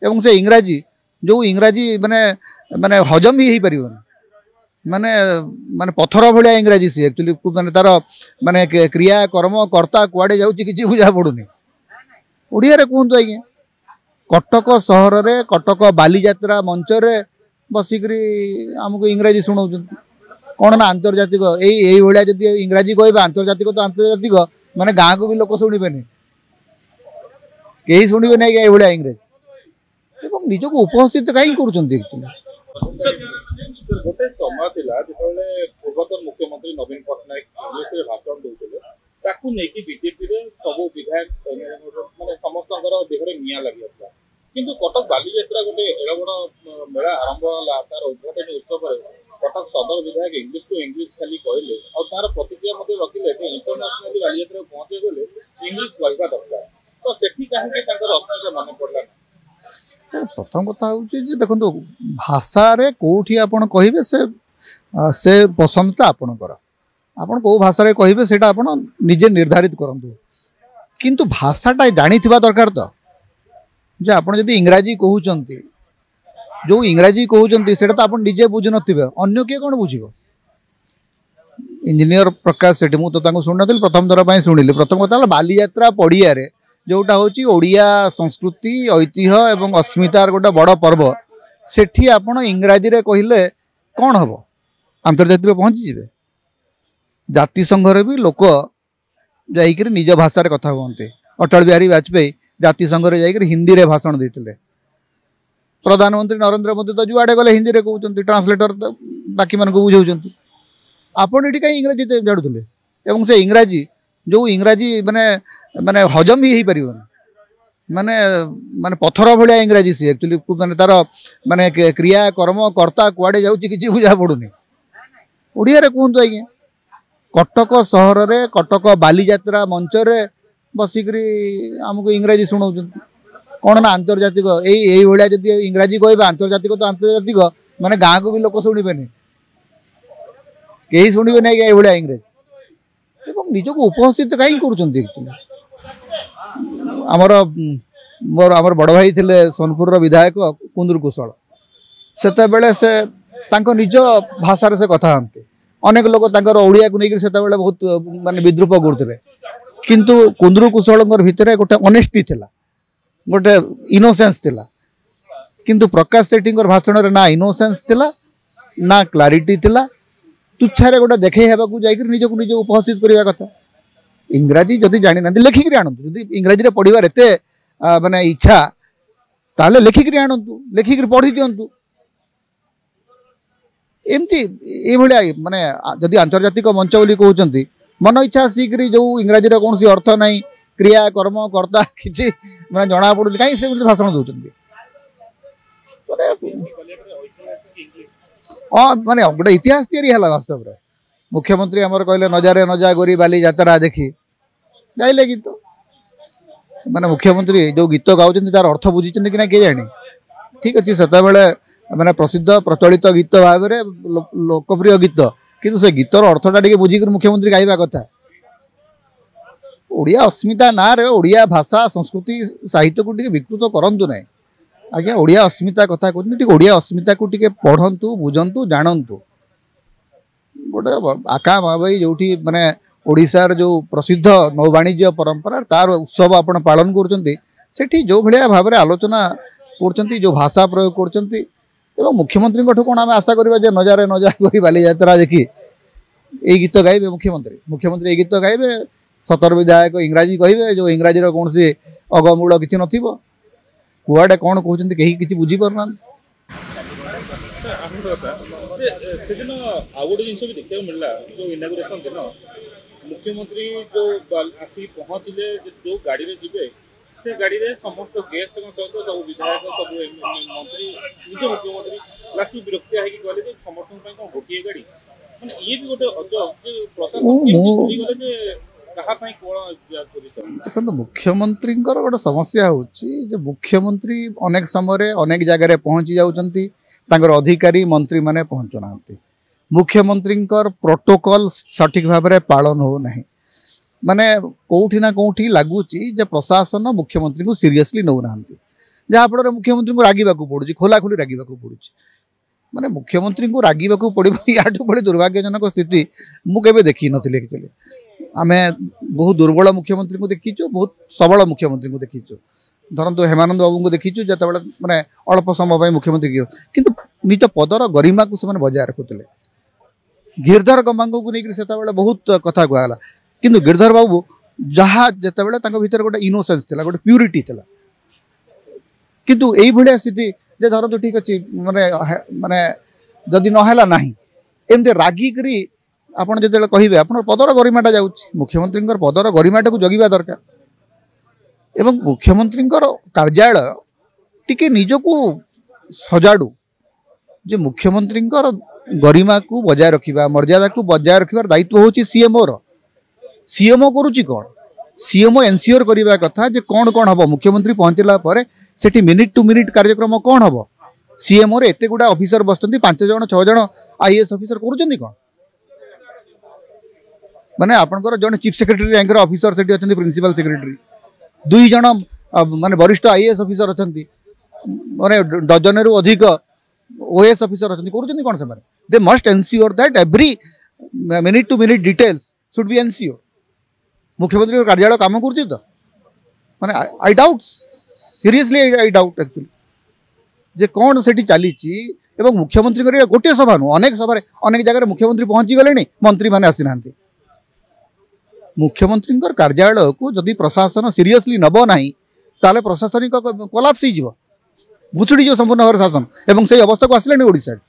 ଏବଂ ସେ ଇଂରାଜୀ ଯେଉଁ ଇଂରାଜୀ ମାନେ ମାନେ ହଜମ ବି ହେଇପାରିବନି, ମାନେ ମାନେ ପଥର ଭଳିଆ ଇଂରାଜୀ ସିଏ ଆକ୍ଚୁଆଲି, ମାନେ ତାର ମାନେ କ୍ରିୟା କର୍ମ କର୍ତ୍ତା କୁଆଡ଼େ ଯାଉଛି କିଛି ବୁଝା ପଡ଼ୁନି। ଓଡ଼ିଆରେ କୁହନ୍ତୁ ଆଜ୍ଞା। କଟକ ସହରରେ କଟକ ବାଲିଯାତ୍ରା ମଞ୍ଚରେ ବସିକରି ଆମକୁ ଇଂରାଜୀ ଶୁଣାଉଛନ୍ତି। କ'ଣ ନା ଆନ୍ତର୍ଜାତିକ, ଏଇଭଳିଆ ଯଦି ଇଂରାଜୀ କହିବେ ଆନ୍ତର୍ଜାତିକ ତ ଆନ୍ତର୍ଜାତିକ, ମାନେ ଗାଁକୁ ବି ଲୋକ ଶୁଣିବେନି, କେହି ଶୁଣିବେନି ଆଜ୍ଞା ଏଇଭଳିଆ ଇଂରାଜୀ। ଏବଂ ନିଜକୁ ଉପସ୍ଥିତ କାହିଁକି କରୁଛନ୍ତି ଆକ୍ଚୁଆଲି? ଗୋଟେ ସମୟ ଥିଲା ଯେତେବେଳେ ପୂର୍ବତନ ମୁଖ୍ୟମନ୍ତ୍ରୀ ନବୀନ ପଟ୍ଟନାୟକ ଇଂଲିଶରେ ଭାଷଣ ଦଉଥିଲେ, ତାକୁ ନେଇକି ବିଜେପିରେ ସବୁ ବିଧାୟକ ମାନେ ସମସ୍ତଙ୍କର ଦେହରେ ନିଆଁ ଲାଗିଯାଇଥିଲା। କିନ୍ତୁ କଟକ ବାଲିଯାତ୍ରା ଗୋଟେ ଏଡ଼େ ବଡ଼ ମେଳା ଆରମ୍ଭ ହେଲା, ତାର ଉଦ୍ଘାଟନୀ ଉତ୍ସବରେ କଟକ ସଦର ବିଧାୟକ ଇଂଲିଶ ଟୁ ଇଂଲିଶ ଖାଲି କହିଲେ, ଆଉ ତାର ପ୍ରତିକ୍ରିୟା ମଧ୍ୟ ରଖିଲେ ଯେ ଇଣ୍ଟରନ୍ୟାସନାଲି ବାଲିଯାତ୍ରାକୁ ପହଞ୍ଚେଇ ଗଲେ ଇଂଲିଶ କହିବା ଦରକାର। ତ ସେଠି କାହିଁକି ତାଙ୍କର ଅସ୍ମିତା ମନେ ପଡ଼ିଲା? ପ୍ରଥମ କଥା ହେଉଛି ଯେ ଦେଖନ୍ତୁ, ଭାଷାରେ କେଉଁଠି ଆପଣ କହିବେ ସେ ପସନ୍ଦଟା ଆପଣଙ୍କର, ଆପଣ କେଉଁ ଭାଷାରେ କହିବେ ସେଇଟା ଆପଣ ନିଜେ ନିର୍ଦ୍ଧାରିତ କରନ୍ତୁ, କିନ୍ତୁ ଭାଷାଟା ଜାଣିଥିବା ଦରକାର ତ। ଯେ ଆପଣ ଯଦି ଇଂରାଜୀ କହୁଛନ୍ତି, ଯେଉଁ ଇଂରାଜୀ କହୁଛନ୍ତି ସେଇଟା ତ ଆପଣ ନିଜେ ବୁଝୁନଥିବେ, ଅନ୍ୟ କିଏ କ'ଣ ବୁଝିବ? ଇଞ୍ଜିନିୟର ପ୍ରକାଶ ସେଠି, ମୁଁ ତ ତାଙ୍କୁ ଶୁଣିନଥିଲି, ପ୍ରଥମ ଥର ପାଇଁ ଶୁଣିଲି। ପ୍ରଥମ କଥା ହେଲା ବାଲିଯାତ୍ରା ପଡ଼ିଆରେ ଯେଉଁଟା ହେଉଛି ଓଡ଼ିଆ ସଂସ୍କୃତି, ଐତିହ୍ୟ ଏବଂ ଅସ୍ମିତାର ଗୋଟେ ବଡ଼ ପର୍ବ, ସେଠି ଆପଣ ଇଂରାଜୀରେ କହିଲେ କ'ଣ ହେବ? ଆନ୍ତର୍ଜାତିକରେ ପହଞ୍ଚିଯିବେ। ଜାତିସଂଘରେ ବି ଲୋକ ଯାଇକରି ନିଜ ଭାଷାରେ କଥା ହୁଅନ୍ତି। ଅଟଳ ବିହାରୀ ବାଜପେୟୀ ଜାତିସଂଘରେ ଯାଇକରି ହିନ୍ଦୀରେ ଭାଷଣ ଦେଇଥିଲେ। ପ୍ରଧାନମନ୍ତ୍ରୀ ନରେନ୍ଦ୍ର ମୋଦି ତ ଯୁଆଡ଼େ ଗଲେ ହିନ୍ଦୀରେ କହୁଛନ୍ତି, ଟ୍ରାନ୍ସଲେଟର ତ ବାକିମାନଙ୍କୁ ବୁଝାଉଛନ୍ତି। ଆପଣ ଏଠି କାହିଁ ଇଂରାଜୀ ଝାଡ଼ୁଥିଲେ? ଏବଂ ସେ ଇଂରାଜୀ ଯେଉଁ ଇଂରାଜୀ ମାନେ ମାନେ ହଜମ ବି ହେଇପାରିବନି, ମାନେ ମାନେ ପଥର ଭଳିଆ ଇଂରାଜୀ ସିଏ ଆକ୍ଚୁଆଲି, ମାନେ ତାର ମାନେ କ୍ରିୟା କର୍ମ କର୍ତ୍ତା କୁଆଡ଼େ ଯାଉଛି କିଛି ବୁଝା ପଡ଼ୁନି। ଓଡ଼ିଆରେ କୁହନ୍ତୁ ଆଜ୍ଞା। କଟକ ସହରରେ କଟକ ବାଲିଯାତ୍ରା ମଞ୍ଚରେ ବସିକରି ଆମକୁ ଇଂରାଜୀ ଶୁଣାଉଛନ୍ତି। କ'ଣ ନା ଆନ୍ତର୍ଜାତିକ, ଏଇଭଳିଆ ଯଦି ଇଂରାଜୀ କହିବେ ଆନ୍ତର୍ଜାତିକ ତ ଆନ୍ତର୍ଜାତିକ, ମାନେ ଗାଁକୁ ବି ଲୋକ ଶୁଣିବେନି, କେହି ଶୁଣିବେନି ଆଜ୍ଞା ଏଇଭଳିଆ ଇଂରାଜୀ। ଏବଂ ନିଜକୁ ଉପସ୍ଥିତ କାହିଁକି କରୁଛନ୍ତି ଆକ୍ଚୁଆଲି? ଆମର ମୋର ଆମର ବଡ଼ ଭାଇ ଥିଲେ ସୋନପୁରର ବିଧାୟକ କୁନ୍ଦୁରୁ କୁଶଳ, ସେତେବେଳେ ସେ ତାଙ୍କ ନିଜ ଭାଷାରେ ସେ କଥା ହୁଅନ୍ତି। ଅନେକ ଲୋକ ତାଙ୍କର ଓଡ଼ିଆକୁ ନେଇକରି ସେତେବେଳେ ବହୁତ ମାନେ ବିଦ୍ରୂପ କରୁଥିଲେ, କିନ୍ତୁ କୁନ୍ଦୁରୁ କୁଶଳଙ୍କର ଭିତରେ ଗୋଟେ ଅନେଷ୍ଟି ଥିଲା, ଗୋଟେ ଇନୋସେନ୍ସ ଥିଲା। କିନ୍ତୁ ପ୍ରକାଶ ସେଠୀଙ୍କର ଭାଷଣରେ ନା ଇନୋସେନ୍ସ ଥିଲା ନା କ୍ଲାରିଟି ଥିଲା, ତୁଚ୍ଛାରେ ଗୋଟେ ଦେଖେଇ ହେବାକୁ ଯାଇକରି ନିଜକୁ ନିଜକୁ ଉପସ୍ଥିତ କରିବା କଥା। ଇଂରାଜୀ ଯଦି ଜାଣିନାହାନ୍ତି ଲେଖିକିରି ଆଣନ୍ତୁ, ଯଦି ଇଂରାଜୀରେ ପଢ଼ିବାର ଏତେ ମାନେ ଇଚ୍ଛା ତାହେଲେ ଲେଖିକିରି ଆଣନ୍ତୁ, ଲେଖିକିରି ପଢ଼ି ଦିଅନ୍ତୁ। ଏମିତି ଏଇଭଳିଆ ମାନେ ଯଦି ଆନ୍ତର୍ଜାତିକ ମଞ୍ଚ ବୋଲି କହୁଛନ୍ତି, ମନ ଇଚ୍ଛା ଆସିକିରି ଯେଉଁ ଇଂରାଜୀର କୌଣସି ଅର୍ଥ ନାହିଁ, କ୍ରିୟା କର୍ମ କର୍ତ୍ତା କିଛି ମାନେ ଜଣା ପଡ଼ୁନି, କାହିଁକି ସେମିତି ଭାଷଣ ଦେଉଛନ୍ତି? ହଁ, ମାନେ ଗୋଟେ ଇତିହାସ ତିଆରି ହେଲା ବାସ୍ତବରେ। ମୁଖ୍ୟମନ୍ତ୍ରୀ ଆମର କହିଲେ ନଜାରେ ନଜା ଗୋରି ବାଲି ଯାତ୍ରା ଦେଖି ଗାଇଲେ ଗୀତ। ମାନେ ମୁଖ୍ୟମନ୍ତ୍ରୀ ଯେଉଁ ଗୀତ ଗାଉଛନ୍ତି ତାର ଅର୍ଥ ବୁଝିଛନ୍ତି କି ନା କିଏ ଜାଣି। ଠିକ୍ ଅଛି, ସେତେବେଳେ ମାନେ ପ୍ରସିଦ୍ଧ ପ୍ରଚଳିତ ଗୀତ ଭାବରେ ଲୋକପ୍ରିୟ ଗୀତ, କିନ୍ତୁ ସେ ଗୀତର ଅର୍ଥଟା ଟିକେ ବୁଝିକରି ମୁଖ୍ୟମନ୍ତ୍ରୀ ଗାଇବା କଥା। ଓଡ଼ିଆ ଅସ୍ମିତା ନାଁରେ ଓଡ଼ିଆ ଭାଷା ସଂସ୍କୃତି ସାହିତ୍ୟକୁ ଟିକେ ବିକୃତ କରନ୍ତୁ ନାହିଁ ଆଜ୍ଞା। ଓଡ଼ିଆ ଅସ୍ମିତା କଥା କହୁଛନ୍ତି, ଟିକେ ଓଡ଼ିଆ ଅସ୍ମିତାକୁ ଟିକେ ପଢ଼ନ୍ତୁ, ବୁଝନ୍ତୁ, ଜାଣନ୍ତୁ। ଗୋଟେ ଆକା ମହାବଇ ଯେଉଁଠି ମାନେ ଓଡ଼ିଶାର ଯେଉଁ ପ୍ରସିଦ୍ଧ ନୌବାଣିଜ୍ୟ ପରମ୍ପରା ତାର ଉତ୍ସବ ଆପଣ ପାଳନ କରୁଛନ୍ତି, ସେଠି ଯେଉଁ ଭଳିଆ ଭାବରେ ଆଲୋଚନା କରୁଛନ୍ତି, ଯେଉଁ ଭାଷା ପ୍ରୟୋଗ କରୁଛନ୍ତି, ଏବଂ ମୁଖ୍ୟମନ୍ତ୍ରୀଙ୍କଠୁ କ'ଣ ଆମେ ଆଶା କରିବା ଯେ ନଜାରେ ନଜା କରି ବାଲିଯାତ୍ରା ଦେଖି ଏଇ ଗୀତ ଗାଇବେ ମୁଖ୍ୟମନ୍ତ୍ରୀ? ମୁଖ୍ୟମନ୍ତ୍ରୀ ଏଇ ଗୀତ ଗାଇବେ, 17 ବିଧାୟକ ଇଂରାଜୀ କହିବେ, ଯେଉଁ ଇଂରାଜୀର କୌଣସି ଅଗମୂଳ କିଛି ନଥିବ, କୁଆଡ଼େ କ'ଣ କହୁଛନ୍ତି କେହି କିଛି ବୁଝିପାରୁନାହାନ୍ତି। ସେଦିନ ଆଉ ଗୋଟେ ଜିନିଷ ବି ଦେଖିବାକୁ ମିଳିଲା, ଯେଉଁ ଇନାଗୁରେସନ ଦିନ ମୁଖ୍ୟମନ୍ତ୍ରୀ ଯେଉଁ ଆସିକି ପହଞ୍ଚିଲେ, ଯେଉଁ ଗାଡ଼ିରେ ଯିବେ ସେ ଗାଡ଼ିରେ ସମସ୍ତ ଗେଷ୍ଟଙ୍କ ସହିତ ସବୁ ବିଧାୟକ, ସବୁ ମନ୍ତ୍ରୀ, ନିଜ ମୁଖ୍ୟମନ୍ତ୍ରୀ ଲାଷ୍ଟ ବିରକ୍ତିଆ ହେଇକି କହିଲେ ଯେ ସମସ୍ତଙ୍କ ପାଇଁ କ'ଣ ଗୋଟିଏ ଗାଡ଼ି? ମାନେ ଇଏ ବି ଗୋଟେ ଅଜବ ଯେ ପ୍ରଶାସନ ଭୁଲିଗଲେ ଯେ କାହା ପାଇଁ କ'ଣ। ଦେଖନ୍ତୁ, ମୁଖ୍ୟମନ୍ତ୍ରୀଙ୍କର ଗୋଟେ ସମସ୍ୟା ହେଉଛି ଯେ ମୁଖ୍ୟମନ୍ତ୍ରୀ ଅନେକ ସମୟରେ ଅନେକ ଜାଗାରେ ପହଞ୍ଚି ଯାଉଛନ୍ତି, ତାଙ୍କର ଅଧିକାରୀ ମନ୍ତ୍ରୀମାନେ ପହଞ୍ଚୁନାହାନ୍ତି। ମୁଖ୍ୟମନ୍ତ୍ରୀଙ୍କର ପ୍ରୋଟୋକଲ ସଠିକ୍ ଭାବରେ ପାଳନ ହେଉନାହିଁ। ମାନେ କେଉଁଠି ନା କେଉଁଠି ଲାଗୁଛି ଯେ ପ୍ରଶାସନ ମୁଖ୍ୟମନ୍ତ୍ରୀଙ୍କୁ ସିରିୟସଲି ନେଉନାହାନ୍ତି। ଯାହାଫଳରେ ମୁଖ୍ୟମନ୍ତ୍ରୀଙ୍କୁ ରାଗିବାକୁ ପଡ଼ୁଛି, ଖୋଲାଖୋଲି ରାଗିବାକୁ ପଡ଼ୁଛି। ମାନେ ମୁଖ୍ୟମନ୍ତ୍ରୀଙ୍କୁ ରାଗିବାକୁ ପଡ଼ିବ, ୟାଠୁ ଭଳି ଦୁର୍ଭାଗ୍ୟଜନକ ସ୍ଥିତି ମୁଁ କେବେ ଦେଖିନଥିଲି। ଆକ୍ଚୁଆଲି ଆମେ ବହୁତ ଦୁର୍ବଳ ମୁଖ୍ୟମନ୍ତ୍ରୀଙ୍କୁ ଦେଖିଛୁ, ବହୁତ ସବଳ ମୁଖ୍ୟମନ୍ତ୍ରୀଙ୍କୁ ଦେଖିଛୁ। ଧରନ୍ତୁ ହେମାନନ୍ଦ ବାବୁଙ୍କୁ ଦେଖିଛୁ ଯେତେବେଳେ ମାନେ ଅଳ୍ପ ସମୟ ପାଇଁ ମୁଖ୍ୟମନ୍ତ୍ରୀ, କିନ୍ତୁ ନିଜ ପଦର ଗରିମାକୁ ସେମାନେ ବଜାୟ ରଖୁଥିଲେ। ଗିରିଧର ଗମାଙ୍ଗକୁ ନେଇକରି ସେତେବେଳେ ବହୁତ କଥା କୁହାଗଲା, କିନ୍ତୁ ଗିରିଧର ବାବୁ ଯାହା ଯେତେବେଳେ ତାଙ୍କ ଭିତରେ ଗୋଟେ ଇନୋସେନ୍ସ ଥିଲା, ଗୋଟେ ପ୍ୟୁରିଟି ଥିଲା। କିନ୍ତୁ ଏଇଭଳିଆ ସ୍ଥିତି ଯେ ଧରନ୍ତୁ ଠିକ୍ ଅଛି, ମାନେ ମାନେ ଯଦି ନହେଲା ନାହିଁ, ଏମିତି ରାଗିକରି ଆପଣ ଯେତେବେଳେ କହିବେ, ଆପଣଙ୍କ ପଦର ଗରିମାଟା ଯାଉଛି। ମୁଖ୍ୟମନ୍ତ୍ରୀଙ୍କର ପଦର ଗରିମାଟାକୁ ଜଗିବା ଦରକାର ଏବଂ ମୁଖ୍ୟମନ୍ତ୍ରୀଙ୍କର କାର୍ଯ୍ୟାଳୟ ଟିକେ ନିଜକୁ ସଜାଡ଼ୁ ଯେ ମୁଖ୍ୟମନ୍ତ୍ରୀଙ୍କର ଗରିମାକୁ ବଜାୟ ରଖିବା, ମର୍ଯ୍ୟାଦାକୁ ବଜାୟ ରଖିବାର ଦାୟିତ୍ୱ ହେଉଛି ସିଏମ୍ଓର। ସିଏମ୍ଓ କରୁଛି କ'ଣ? ସିଏମ୍ଓ ଏନସିଓର କରିବା କଥା ଯେ କ'ଣ କ'ଣ ହେବ, ମୁଖ୍ୟମନ୍ତ୍ରୀ ପହଞ୍ଚିଲା ପରେ ସେଠି ମିନିଟ୍ ଟୁ ମିନିଟ୍ କାର୍ଯ୍ୟକ୍ରମ କ'ଣ ହେବ। ସିଏମ୍ଓରେ ଏତେ ଗୁଡ଼ା ଅଫିସର ବସିଛନ୍ତି, 5 ଜଣ 6 ଜଣ ଆଇଏଏସ୍ ଅଫିସର, କରୁଛନ୍ତି କ'ଣ? ମାନେ ଆପଣଙ୍କର ଜଣେ ଚିଫ୍ ସେକ୍ରେଟାରୀ ର୍ୟାଙ୍କର ଅଫିସର ସେଠି ଅଛନ୍ତି, ପ୍ରିନ୍ସିପାଲ ସେକ୍ରେଟାରୀ, 2 ଜଣ ମାନେ ବରିଷ୍ଠ ଆଇଏଏସ୍ ଅଫିସର ଅଛନ୍ତି, ମାନେ ଡଜନେରୁ ଅଧିକ ଓଏଏସ୍ ଅଫିସର ଅଛନ୍ତି। କରୁଛନ୍ତି କ'ଣ ସେମାନେ? They must ensure that every minute to minute details should be ensure. ମୁଖ୍ୟମନ୍ତ୍ରୀଙ୍କ କାର୍ଯ୍ୟାଳୟ କାମ କରୁଛି ତ? ମାନେ I doubt, seriously I doubt actually ଯେ କ'ଣ ସେଠି ଚାଲିଛି। ଏବଂ ମୁଖ୍ୟମନ୍ତ୍ରୀଙ୍କର ଏଇଟା ଗୋଟିଏ ସଭା ନୁହଁ, ଅନେକ ସଭାରେ ଅନେକ ଜାଗାରେ ମୁଖ୍ୟମନ୍ତ୍ରୀ ପହଞ୍ଚିଗଲେଣି, ମନ୍ତ୍ରୀମାନେ ଆସିନାହାନ୍ତି। ମୁଖ୍ୟମନ୍ତ୍ରୀଙ୍କର କାର୍ଯ୍ୟାଳୟକୁ ଯଦି ପ୍ରଶାସନ ସିରିୟସଲି ନେବ ନାହିଁ, ତାହେଲେ ପ୍ରଶାସନିକ କୋଲାପ୍ସ ହେଇଯିବ, ଭୁଷୁଡ଼ିଯିବ ସମ୍ପୂର୍ଣ୍ଣ ଭାବରେ ଶାସନ, ଏବଂ ସେଇ ଅବସ୍ଥାକୁ ଆସିଲାଣି ଓଡ଼ିଶାରେ।